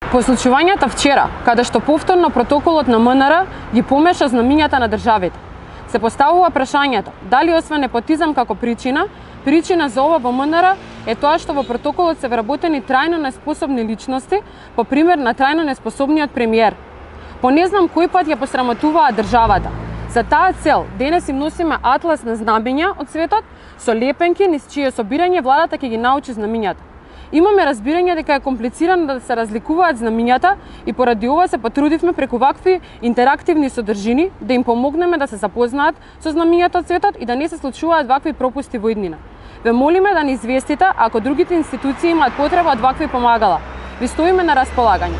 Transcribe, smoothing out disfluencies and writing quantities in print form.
По случувањата вчера, каде што повторно протоколот на МНР ги помеша знамињата на државите, се поставува прашањето дали освен непотизам како причина за ова во МНР е тоа што во протоколот се вработени трајно неспособни личности, по пример на трајно неспособниот премиер. По не знам кој пат ја посрамотуваа државата. За таа цел денес им носиме атлас на знамиња од светот со лепенки низ чие собирање владата ќе ги научи знамињата. Имаме разбирање дека е комплицирано да се разликуваат знамињата и поради ова се потрудивме преку вакви интерактивни содржини да им помогнеме да се запознаат со знамињата од светот и да не се случуваат вакви пропусти во иднина. Ве молиме да ни известите ако другите институции имаат потреба од вакви помагала. Ви стоиме на располагање.